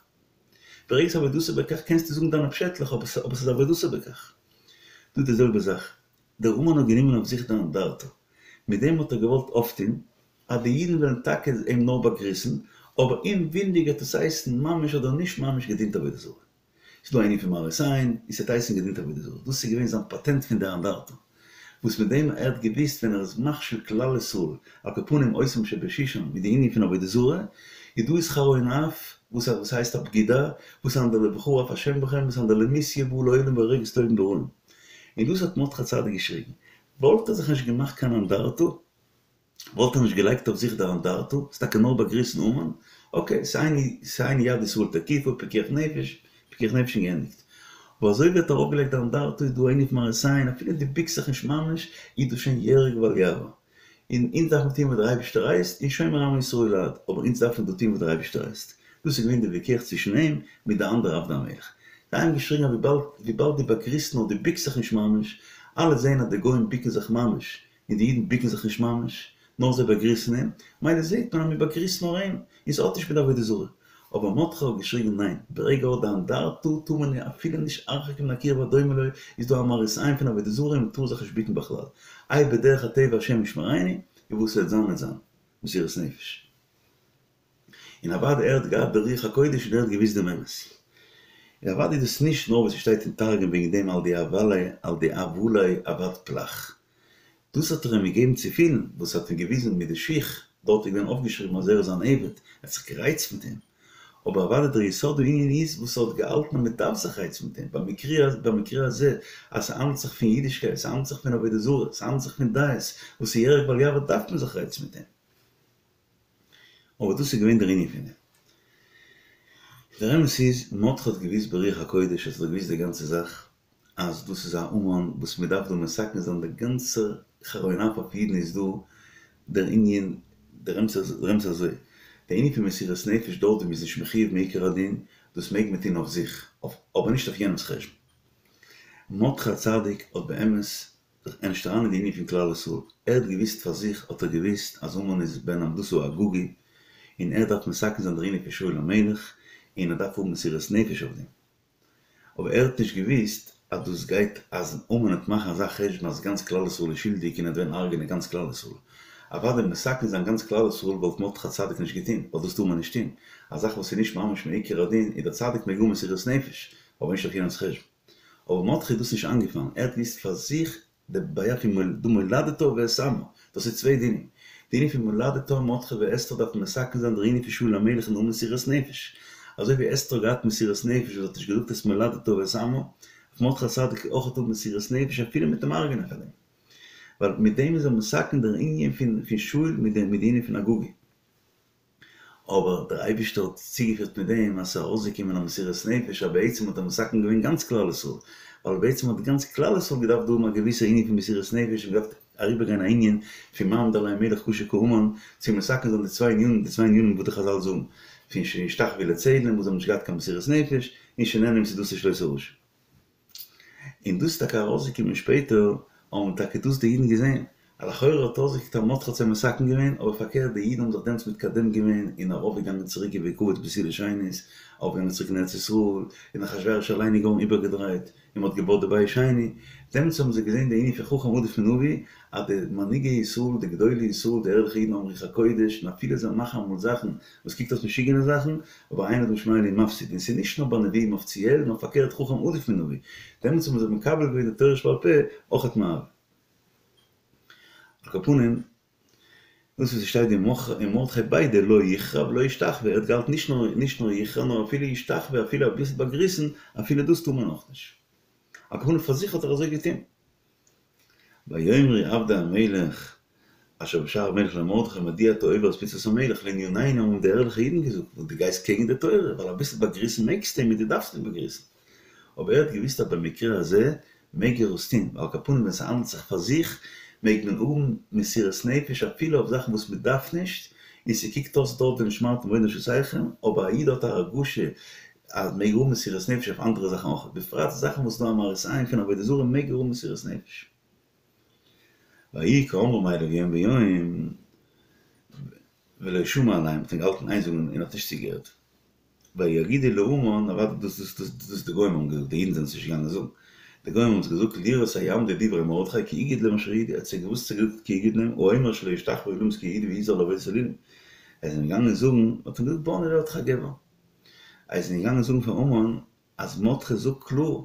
ברגע ס'איז עבודתו בכך קענסטו זאגן דיינע פשעטלעך אבער ס'איז עבודתו בכך. דא די זעלבע זאך, דער המן האט גענומען אויף זיך די אנדרטא, מיט דעם האט ער געוואלט אויפטון אז די אידן וועלן טאקע אים נאר באגריסן, אבער אומווילנדיג וועט עס הייסן ממש אדער נישט ממש געדינט עבודה זרה. ס'איז דא א ענין פון מראית עין, און ס'וועט הייסן געדינט עבודה זרה. דאס איז געווען זיין פאטענט פון די אנדרטא, וואס מיט דעם ער האט געוואוסט ווען ער איז מכשיל כלל ישראל, על כל פנים אותם שבשושן מיט די ענין פון עבודה זרה, איז דא שכרו אין אף, וואס וואס הייסט א בגידה, וואס אנדער לבחור אף השם בכם, וואס אנדער למיתיא בא לעולם והורגת טובים ברעים. און דאס האט מרדכי הצדיק געשריגן. וואלט ער זיך נישט געמאכט קיין אנדרטא, וואלט ער נישט געלייגט אויף זיך די אנדרטא, ס'איז טאקע נאר באגריסן המן, אקעי, ס'איז אין יד ישראל תקיפה, פיקוח נפש, פיקוח נפש און געענדיגט. אבער אזוי ווי ער האט ארויפגעלייגט די אנדרטא איז דא ענין פון מראית עין, אפילו דו ביקסט זיך נישט ממש, איז דאס שוין יהרג ואל יעבור. און אונז דארף מען טון וואס דער אייבערשטער הייסט, און שומר עמו ישראל לעד, אבער אונז דארפן דא טון וואס דער אייבערשטער הייסט. דאס איז געווען די ויכוח צווישן אים מיט די אנדערע עבדי המלך. זיי האבן געשריגן אז וויבאלד וויבאלד דו באגריסט נאר דו ביקסט זיך נישט ממש, אלע זעען אז די גוים ביקן זיך ממש, און די אידן ביקן זיך נישט ממש, נאר זיי באגריסן אים, מילא זעט מען אז מען באגריסט נאר אים, און ס'האט נישט מיט עבודה זרה. אבער מרדכי האט געשריגן ניין, ברגע האט די אנדרטא טאר מען אפילו נישט הרחק מן הקיר והדומה לו, איז דא א מראית עין פון עבודה זרה און מען טאר זיך נישט ביקן בכלל. איי בדרך הטבע השם ישמרינו, און וואס ס'וועט זיין וועט זיין. מסירות נפש. און אוודאי ער האט געהאט די רוח הקודש און ער האט געוואוסט דעם אמת. און אוודאי איז דאס נישט נאר וואס ס'שטייט אין תרגום וועגן דעם על דאהבא ליה על דאהבא ליה עבד פלך. דאס האט ער אים געגעבן צו פילן, וואס האט אים געוויזן מיט די שיך, דארט איז געווען אויפגעשריבן אז ער איז אן עבד, ער האט זיך גערייצט מיט אים. אבער אוודאי דער יסוד הענין איז וואס ער האט געהאלטן אז מ'דארף זיך רייצן מיט אים, במקרה הזה אז ס'האנדלט זיך פון אידישקייט, ס'האנדלט זיך פון עבודה זרה, ס'האנדלט זיך פון דעות, וואס איז יהרג ואל יעבור דארף מען זיך רייצן מיט אים. אבער דאס איז געווען דער ענין פון דעם. דער אמת איז, מרדכי האט געוואוסט ברוח הקודש, האט ער געוואוסט די גאנצע זאך, אז דאס איז א המן וואס מען דארף דא מתקן זיין, דער גאנצער חרון אף אויף אידן איז דא דער ענין, דער אמת איז אזוי, דער ענין פון מסירות נפש דארט ווי מען איז נישט מחויב מעיקר הדין, דאס מעג מען טון אויף זיך, אבער נישט אויף יענעמ'ס חשבון. מרדכי הצדיק האט באמת זיך נישט אריין אין די ענין פון כלל ישראל, ער האט געוואוסט פאר זיך האט ער געוואוסט אז המן איז בן המדתא האגגי, און ער דארף מתקן זיין דער ענין פון שאול המלך, און ער דארף האבן מסירות נפש אויף דעם. אבער ער האט נישט געוואוסט אז דאס גייט אז המן וועט מאכן אזא חשבון אז גאנץ כלל ישראל איז שולדיג און ער וועט וועלן הרג'ענען גאנץ כלל ישראל. אוודאי מתקן זיין גאנץ כלל ישראל וואלט מרדכי הצדיק נישט געטון, ווייל דאס טאר מען נישט טון. א זאך וואס איז נישט ממש מעיקר הדין איז דער צדיק מעג האבן מסירות נפש, אבער נישט אויף יענעמ'ס חשבון. אבער מרדכי איז דאס נישט איינגעפאלן, ער האט געוואוסט פאר זיך די בעיה פון דא מולדתה ואת עמה, דאס איז צוויי דינים, די ענין פון מולדתה מרדכי ואסתר דארפן מתקן זיין דער ענין פון שאול המלך און האבן מסירות נפש, אזוי ווי אסתר האט געהאט מסירות נפש וואס האט נישט געזאגט את מולדתה ואת עמה, דארף מרדכי הצדיק אויך האבן מסירות נפש אפילו מ'וועט אים הרג'נען פאר דעם, ווייל מיט דעם איז ער מתקן דער ענין פון שאול מיט די ענין פון אגגי. אבער דער אייבערשטער האט צוגעפירט מיט דעם אז ס'איז ארויסגעקומען א מסירות נפש אז בעצם האט ער מתקן געווען גאנץ כלל ישראל, ווייל בעצם האט גאנץ כלל ישראל געדארפט דא האבן א געוויסע ענין פון מסירות נפש און געדארפט אריבערגיין א ענין פון מה עמד עליהם מלך קשה כהמן צו מתקן זיין די צוויי ענינים, די צוויי ענינים וואס די חזל זאגן פון שהשתחוו לצלם וואס זיי האבן נישט געהאט קיין מסירות נפש און שנהנו מסעודתו של אותו רשע. און דאס איז טאקע ארויסגעקומען שפעטער, האבן טאקע דאס די אידן געזען, אז לכאורה האט אויסגעקוקט אז מרדכי האט זיי מתקן געווען, אבער פארקערט די אידן האבן זיך דעמאלטס מתקדם געווען און ארויפגעגאנגען צוריק ובכבוד בתולה שנית, ארויפגעגאנגען צוריק אין ארץ ישראל, און אחשורוש אליין איז געווארן איבערגעדרייט, און מ'האט געבויט די בית שני, דעמאלטס האבן זיי געזען די ענין פון חכם עדיף מנביא, אז די מנהיגי ישראל, די גדולי ישראל, די ערליכע אידן האבן רוח הקודש, און אפילו זיי מאכן אמאל זאכן וואס קוקט אויס משוגענע זאכן, אבער אין אדם שומע אלא מפסיד, און ס'איז נישט נאר ביי נביאים אפיציעל, נאר פארקערט חכם עדיף מנביא, דעמאלטס האבן זיי מקבל געווען די תורה שבעל פה אויכעט מאהבה. על כל פנים, דאס וואס ס'שטייט דא ומרדכי ביידע לא יכרע ולא ישתחווה, ער האט געהאלטן נישט נאר נישט נאר יכרע נאר אפילו ישתחווה אפילו אביסל באגריסן, אפילו דאס טאר מען אויך נישט. על כל פנים פאר זיך האט ער אזוי געטון. ויאמרו עבדי המלך אשר בשער המלך למרדכי מדוע אתה עובר את מצות המלך לענינינו האבן די ערליכע אידן געזאגט וואס דו גייסט קעגן די תורה ווייל אביסל באגריסן מעגסטו אים און דו דארפסט אים באגריסן אבער ער האט געוויסט אז במקרה הזה מעג ער עס טון ווייל על כל פנים ווען ס'האנדלט זיך פאר זיך מעג מען האבן מסירות נפש אפילו אויף זאכן וואס מ'דארף נישט און ס'קוקט אויס דארט ונשמרתם מאד לנפשותיכם אבער א איד האט א הרגשה אז מעג האבן מסירות נפש אויף אנדערע זאכן אויך, בפרט זאכן וואס איז דא א מראית עין פון עבודה זרה מעג ער האבן מסירות נפש. ויהי כאמרם אליו יום ויום ולא שמע אליהם, האט אים געהאלטן איין זאגן און האט נישט צוגעהערט. ויגידו להמן, אוודאי דאס דאס דאס דאס די גוים האבן געזאגט, די אידן זענען עס נישט געגאנגען זאגן, די גוים האבן עס געזאגט לראות היעמדו דברי מרדכי כי הגיד להם אשר ידעו, ער האט זיי געוואוסט צו געזאגט כי הגיד להם, האומר שלא ישתחוו ולמות כיהודי ויזהר לעבודת אלילים. זיי זענען געגאנגען זאגן, האט אים געזאגט בוא נראה אותך גבר. זיי זענען געגאנגען זאגן פאר המן אז מרדכי זאגט קלאר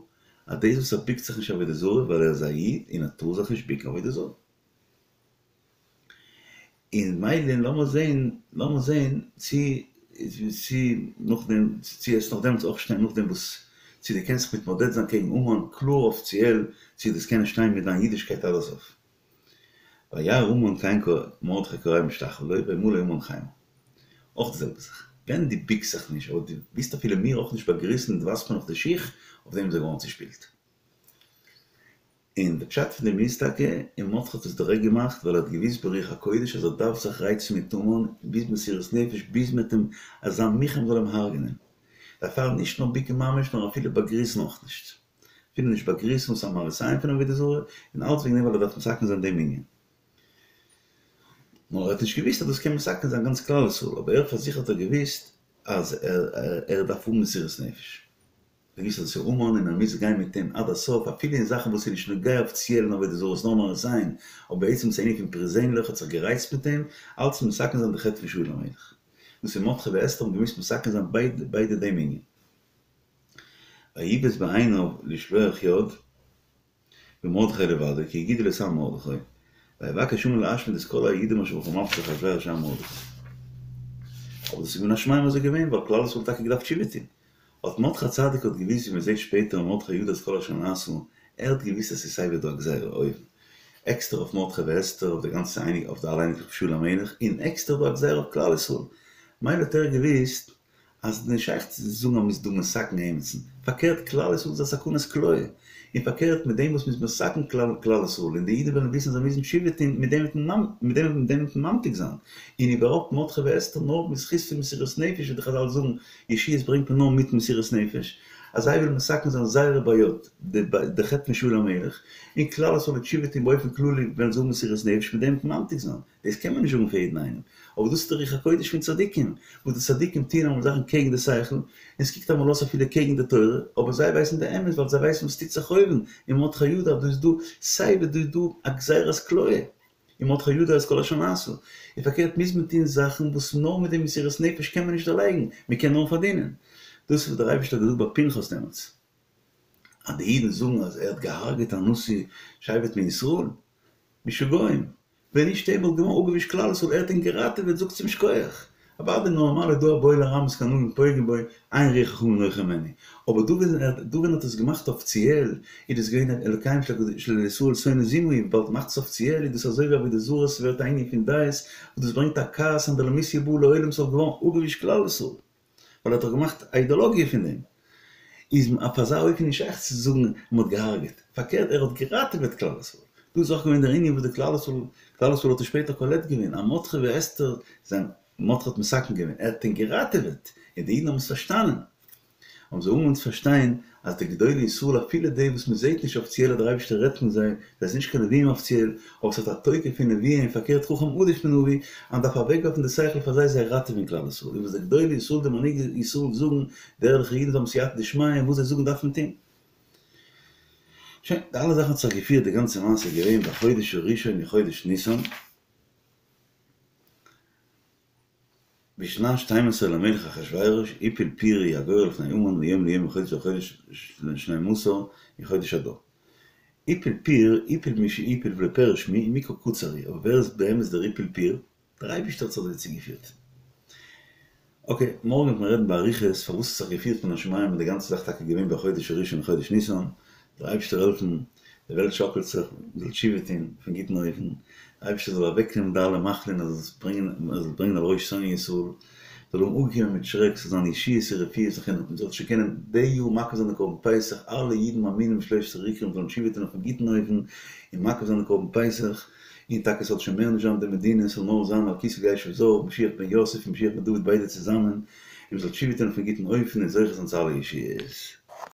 אז דאס וואס ער ביקט זיך נישט עבודה זרה ווייל ער איז א איד און ער טאר זיך נישט ביקן עבודה זרה. און מילא לאמיר זעהן לאמיר זעהן צו צו נאכדעם צו עס נאך דעמאלטס אויך שטיין נאכדעם וואס צו דו קענסט זיך מתמודד זיין קעגן המן קלאר אפיציעל צו דאס קען שטיין מיט דיין אידישקייט עד הסוף. וירא המן כן מרדכי כורע ומשתחוה לו וימלא המן חימה. אויך די זעלבע זאך. ווען דו ביקסט זיך נישט אדער דו ווילסט אפילו מיר אויך נישט באגריסן און דו ווייזט מיר נאך די שיך, אויף דעם איז ער געווארן צושפילט. און די פשט פון דעם איז טאקע, און מרדכי האט עס דירעקט געמאכט ווייל ער האט געוואוסט ברוח הקודש אז ער דארף זיך רייצן מיט המן ביז מסירות נפש ביז מ'וועט אים אזא מוכן מ'זאל אים הרג'נען. דערפאר נישט נאר ביקן ממש נאר אפילו באגריסן אויך נישט. אפילו נישט באגריסן וואס איז א מראית עין פון עבודה זרה, און אלץ וועגן דעם ווייל ער דארף מתקן זיין דעם ענין. נאר ער האט נישט געוואוסט אז דאס קען מתקן זיין גאנץ כלל ישראל, אבער ער פאר זיך האט ער געוואוסט. אז ער דארף האבן מסירות נפש. ער האט געוואוסט אז עס איז המן און ער מוז גיין מיט אים עד הסוף אפילו אין זאכן וואס איז נישט נוגע אפיציעל אין עבודה זרה איז נאר מראית עין, אבער בעצם איז עס א ענין פון פערזענליך האט זיך גערייצט מיט אים אלץ מתקן זיין די חטא פון שאול המלך. דאס איז מרדכי ואסתר האבן געמוזט מתקן זיין ביידע דעם ענין. ויבז בעיניו לשלוח יד. במרדכי לבדו, כי הגידו את עם מרדכי, ויבקש המן להשמיד את כל היהודים אשר בכל מבצע אחשורוש עם מרדכי. אבער דאס איז מן השמים אזוי געווען, ווייל כלל ישראל האט טאקע געדארפט תשובה טון. האט מרדכי הצדיק האט געוואוסט ווי מען זעט שפעטער אין מרדכי ידע את כל אשר נעשה, ער האט געוואוסט אז ס'איז סייווי דא א גזירה אויבן, עקסטער אויף מרדכי ואסתר, אויף די גאנצע אייניג אויף די אלע אייניקלעך פון שאול המלך, און עקסטער דא א גזירה אויף כלל ישראל. מילא האט ער געוואוסט אז נישט שייך צו זאגן אז מ'איז דא מתקן עימיצן, פארקערט כלל ישראל איז א סכנת כליה, און פארקערט מיט דעם וואס מ'איז מתקן כלל ישראל און די אידן וועלן וויסן אז זיי מוזן תשובה טון מיט דעם וועט מען מיט דעם וועט מען ממתיק זיין, און איבערהויפט מרדכי ואסתר נאר בזכות פון מסירות נפש ווי די חזל זאגן ישועות ברענגט מען נאר מיט מסירות נפש, אז זיי ווילן מתקן זיין זייערע בעיות, די חטא פון שאול המלך, און כלל ישראל וועט תשובה טון באופן כללי וועלן זיי האבן מסירות נפש מיט דעם וועט מען ממתיק זיין. דאס קען מען נישט זאגן פאר יעדן איינעם, אבער דאס איז די רוח הקודש פון צדיקים, וואס די צדיקים טוען אמאל זאכן קעגן די שכל, און עס קוקט אמאל אויס אפילו קעגן די תורה, אבער זיי ווייסן די אמת ווייל זיי ווייסן וואס טוט זיך אויבן, און מרדכי ידע דא איז דא סיי ווי דא איז דא א גזירת כליה, און מרדכי ידע את כל אשר נעשה, און פארקערט מוז מען טון זאכן וואס נאר מיט די מסירות נפש קען מען נישט דערלייגן, מען קען נאר פארדינען. דאס איז וואס דער אייבערשטער האט געזאגט ביי פנחס דעמאלטס, אז די אידן זאגן אז ער האט געהארגעט א נשיא שבט מישראל, משוגעים! ווען נישט ער וואלט געווארן אפגעווישט כלל ישראל, ער האט אים געראטעוועט, זאגטס אים שכוח. אוודאי נארמאל איז דא הבועל ארמית קנאים פוגעין בו, אין רוח חכמים נוחה הימנו. אבער דא ווען ער דא ווען ער האט עס געמאכט אפיציעל, איז דאס געווען אלקיהם של ישראל שונא זימה, וויבאלד מ'מאכט עס אפיציעל איז דאס אזוי ווי עבודה זרה, ס'ווערט א ענין פון דעות, וואס דאס ברענגט א כעס אנדרלמוסיא באה לעולם ס'וואלט געווארן אפגעווישט כלל ישראל. ווייל ער האט דאך געמאכט א אידאלאגיע פון דעם, איז אויף אזא אופן נישט שייך צו זאגן מען האט געהארגעט, פארקערט ער האט געראטעוועט כלל ישראל, דא איז אויך געווען דער ענין וואס די כלל ישראל, כלל ישראל האט עס שפעטער קולט געווען, אז מרדכי ואסתר זענען, מרדכי האט מתקן געווען, ער האט אים געראטעוועט, און די אידן האבן עס פארשטאנען. האבן זיי אנגעהויבן צו פארשטיין אז די גדולי ישראל אפילו די וואס מען זעט נישט אפיציעל אז דער אייבערשטער רעדט מיט זיי, זיי זענען נישט קיין נביאים אפיציעל, אבער עס האט א תוקף פון נביאים און פארקערט חכם עדיף מנביא, אז מען דארף אוועקווארפן די שכל פאר זיי זיי ראטעווען כלל ישראל, און וואס די גדולי ישראל די מנהיגי ישראל זאגן, די ערליכע אידן זיי האבן סייעתא דשמיא און וואס זיי זאגן דארף מען טון. שוין, די אלע זאכן האט זיך געפירט די גאנצע מעשה איז געווען בחודש הראשון אין חודש ניסן, בשנת שתים עשרה למלך אחשורוש הפיל פור הוא הגורל לפני המן מיום ליום מחודש לחודש לשנים עשר אין חודש אדר. הפיל פור הפיל מי שהפיל ולא פירש מי ומקרא קצר הוא, אבער ווער איז באמת דער הפיל פור? דער אייבישטער האט זיך אזוי צוגעפירט. אקעי, מארגן וועט מען רעדן באריכות פארוואס ס'האט זיך געפירט מן השמים און די גאנצע זאך טאקע געווען בחודש הראשון חודש ניסן, דער אייבישטער העלפן די וועלט שאקלט זיך, מען זאל תשובה טון אויפן גוטן אופן, דער אייבערשטער זאל אוועק נעמען די אלע מחלין ער זאל עס ברענגען, ער זאל ברענגען על ראש שונאי ישראל, זאל האבן אפגעקומען מיט שרעק, ס'זאל זיין ישועות און רפואות זיך און מען זאל שוין קענען די יאר מקריב זיין די קרבן פסח, אלע אידן מאמינים בשלושת העיקרים זאלן תשובה טון אויפן גוטן אופן און מקריב זיין די קרבן פסח, און טאקע ס'זאל שוין מער נישט זיין די מדינה, ס'זאל נאר זיין על כסא ישב זר, משיח בן יוסף און משיח בן דוד ביידע צוזאמען, און מען זאל תשובה טון אויפן גוטן אופן און זוכה זיין צו אלע ישועות.